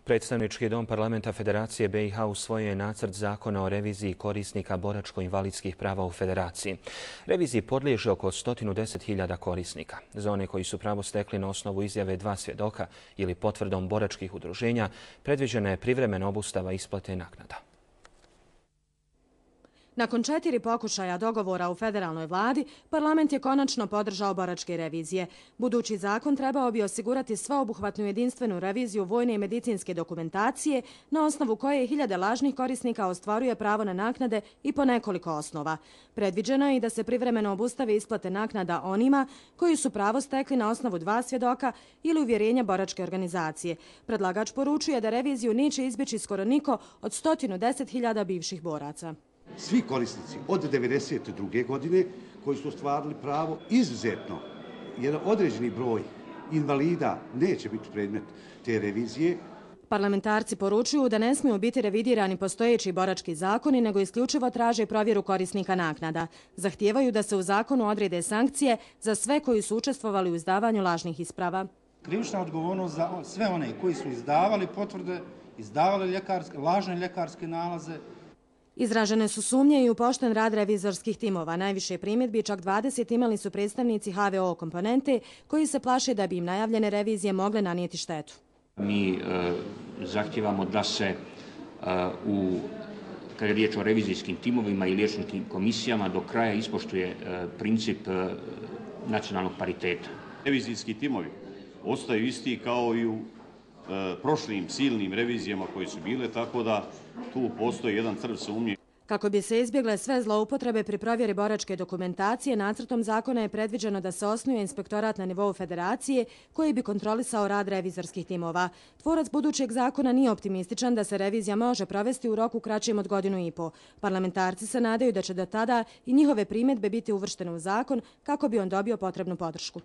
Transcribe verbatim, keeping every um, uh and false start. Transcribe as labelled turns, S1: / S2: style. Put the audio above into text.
S1: Predstavnički dom Parlamenta Federacije B i H usvojio je nacrt zakona o reviziji korisnika boračko-invalidskih prava u Federaciji. Reviziji podliježe oko sto deset hiljada korisnika. Za one koji su pravo stekli na osnovu izjave dva svjedoka ili potvrdom boračkih udruženja, predviđena je privremena obustava isplate naknada.
S2: Nakon četiri pokušaja dogovora u federalnoj vladi, parlament je konačno podržao boračke revizije. Budući zakon trebao bi osigurati sveobuhvatnu jedinstvenu reviziju vojne i medicinske dokumentacije, na osnovu koje hiljade lažnih korisnika ostvaruje pravo na naknade i po nekoliko osnova. Predviđeno je i da se privremeno obustave isplate naknada onima koji su pravo stekli na osnovu dva svjedoka ili uvjerenja boračke organizacije. Predlagač poručuje da reviziju neće izbjeći skoro niko od sto deset hiljada bivših boraca.
S3: Svi korisnici od devedeset druge godine koji su ostvarili pravo, izuzetno jedan određeni broj invalida neće biti predmet te revizije.
S2: Parlamentarci poručuju da ne smiju biti revidirani postojeći borački zakoni, nego isključivo traže provjeru korisnika naknada. Zahtijevaju da se u zakonu odrede sankcije za sve koji su učestvovali u izdavanju lažnih isprava.
S4: Krivična odgovornost za sve one koji su izdavali potvrde, izdavali ljekarske, lažne ljekarske nalaze.
S2: Izražene su sumnje i u pošten rad revizorskih timova. Najviše primjedbi, čak dvadeset, imali su predstavnici H V O komponente koji se plaše da bi im najavljene revizije mogle nanijeti štetu.
S5: Mi e, zahtijevamo da se e, u, kada je riječ o revizijskim timovima i liječničkim komisijama, do kraja ispoštuje e, princip e, nacionalnog pariteta.
S6: Revizijski timovi ostaju isti kao i u e, prošlim silnim revizijama koje su bile, tako da tu postoji jedan crv sumnje.
S2: Kako bi se izbjegle sve zloupotrebe pri provjeri boračke dokumentacije, nacrtom zakona je predviđeno da se osnuje inspektorat na nivou federacije koji bi kontrolisao rad revizorskih timova. Tvorac budućeg zakona nije optimističan da se revizija može provesti u roku kraćem od godinu i po. Parlamentarci se nadaju da će do tada i njihove primjedbe biti uvrštene u zakon kako bi on dobio potrebnu podršku.